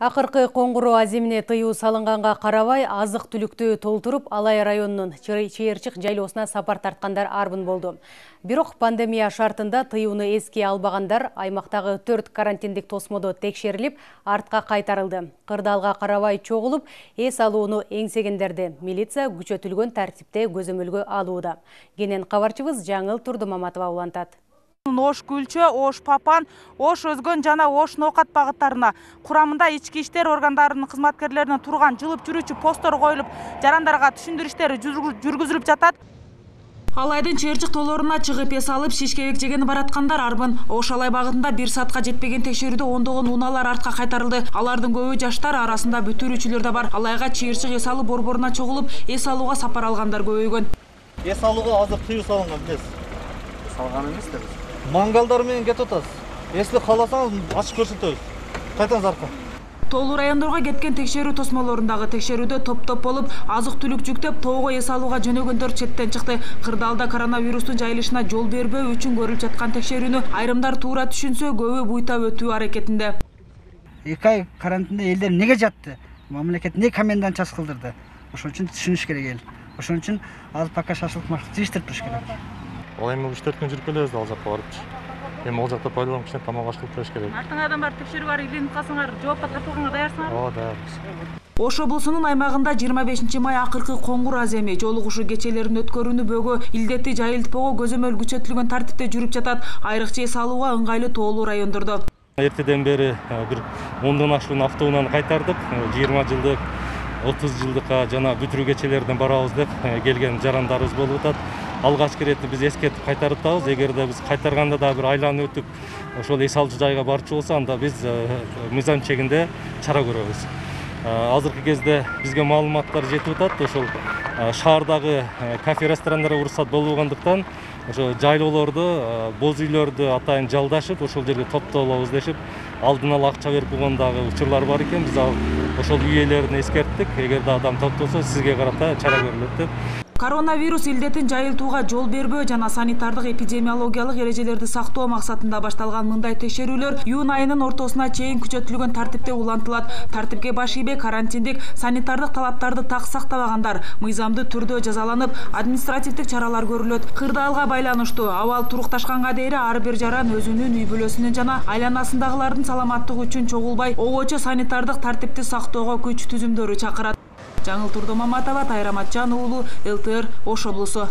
Акыркы коңгуроо аземине тыюу салынганга карабай, азык-түлүктү толтуруп, Алай районунун Чыйырчык жайлоосуна сапар тарткандар арбын болду. Бирок пандемия шартында тыюуну эске албагандар аймактагы 4 карантиндик тосмодо текшерилип, артка кайтарылды. Кырдаалга карабай чогулуп, эс алууну эңсегендерди милиция күчөтүлгөн тартипте көзөмөлгө алууда. Кенен кабарчыбыз Жаңыл Турдумаматова улантат. Ош Күлчө, Ош Папан, Ош Өзгөн жана Ош Ноокат багыттарына курамында ички иштер органдарынын кызматкерлеринин турган жылып жүрүүчү посттор коюлуп, жарандарга түшүндүрүштөр жүргүзүлүп жатат. Алайдын Чыйырчык тоолоруна чыгып эс алып, шишкебек жеген бараткандар арбын. Ош Алай багытында 1 саатка жетпеген текшерүүдө ондогон унаалар артка кайтарылды. Алардын көбү жаштар, арасында бүтүрүүчүлөр да бар. Алайга Чыйырчык эс алуу борборуна чогулуп, эс алууга сапар алгандар көбөйгөн. Эс алууга азыр тыюу салынган эмес. Салган эмес да биз. Мангалдар менен кетип атасыз. Эсти кааласаңыз ачык көрсөтөбүз. Кайтаңыз арка. Тоолуу райондорго кеткен текшерүү тосмолорундагы текшерүүдө топ-топ болуп, азык-түлүк жүктөп, тоого эс алууга жөнөгөндөр четтен чыкты. Кырдаалда коронавирустун жайылышына жол бербөө үчүн көрүлүп жаткан текшерүүнү айрымдар туура түшүнсө, көбү буйтап өтүү аракетинде. 2 ай карантинде элдер неге жатты? Мамлекет не комендантчас кылдырды? Ошон үчүн түшүнүш керек эл. Ошон үчүн азыр пока шашлык тийиштирип туруш керек. Ал эми 3-4 күн жүрүп келебиз ал жакка барыпчы. Эми ал жакта пайдаланып кичине тамак аш кылып бериш керек. Артыңардан барып текшерүү бар, илинип калсаңар, жоопко тартылганга даярсыңарбы? Ооба, даярбыз. Ош облусунун аймагында 25 май акыркы коңгур аземи жолугушуу кечелерин өткөрүүнү бөгөө, илдетти жайылтпоого көзөмөл күчөтүлгөн тартипте жүрүп жатат. Айрыкча эс алууга ыңгайлуу тоолуу райондордо. Эртеден бери бир 10дон ашуун автоунааны кайтардык. 20 жылдык, 30 жылдыкка жана бүтүрүү кечелерден барабыз деп келген жарандарыбыз болуп атат. Алгачкы иретти биз эскертип кайтарып атабыз. Эгерде биз кайтарганда да бир айланып өтүп, ошол эс алчу жайга барчу болсо, анда биз мыйзам чегинде чара көрөбүз. Азыркы кезде бизге маалыматтар жетип атат. Ошол шаардагы кафе, ресторандарга уруксат болбогондуктан, ошо жайлоолорду, боз үйлөрдү атайын жалдашып, ошол жерге топтолобуз дешип, алдын ала акча берип койгондагы учурлар бар экен. Биз ошол үй ээлерине эскерттик. Эгерде адам топтолсо, сизге карата чара көрүлөт деп. Коронавирус илдетин жайылтууга жол бербөө жана санитардык эпидемиологиялык эрежелерди сактоо максатында башталган мындай текшерүүлөр июнь айынын ортосуна чейин күчөтүлгөн тартипте улантылат. Тартипке баш ийбей карантиндик, санитардык талаптарды так сактабагандар мыйзамдуу түрдө жазаланып, административдик чаралар көрүлөт. Кырдаалга байланыштуу абал турукташканга дейре ар бир жаран өзүнүн үй бүлөсүнүн жана айланасындагылардын саламаттыгы үчүн чогулбай, обочо санитардык тартипти сактоого күч түзүмдөрү чакырат. Жаңыл Турдумаматова, Тайрамат Жан уулу, ЛТР, Ош облусу.